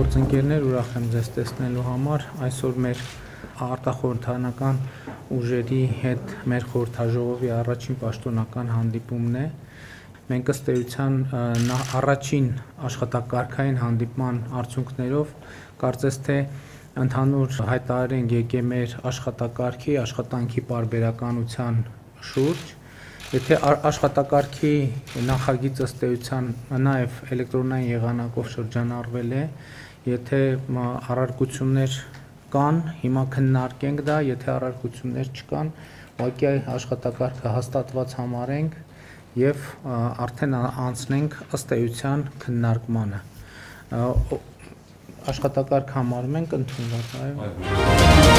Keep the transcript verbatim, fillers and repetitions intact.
Գործընկերներ, ուրախ եմ ձեզ տեսնելու համար։ Այսօր մեր արտախորհրդարանական ուժերի հետ մեր խորհրդաժողովի առաջին պաշտոնական հանդիպումն է։ Մենք ըստ էության առաջին աշխատակարգային հանդիպման արդյունքներով կարծես թե ընդհանուր հայտարարենք եկե մեր աշխատակարգի, աշխատանքի պարբերականության շուրջ։ Եթե աշխատակարգի նախագիծ ըստ էության նաև էլեկտրոնային եղանակով շրջանառվել է, եթե առարկություններ կան, հիմա քննարկենք դա, եթե առարկություններ չկան, ուղղակի աշխատակարգը հաստատված համարենք եւ արդեն անցնենք ըստ էության քննարկմանը։ Աշխատակարգ համարում ենք ընդունված, այո։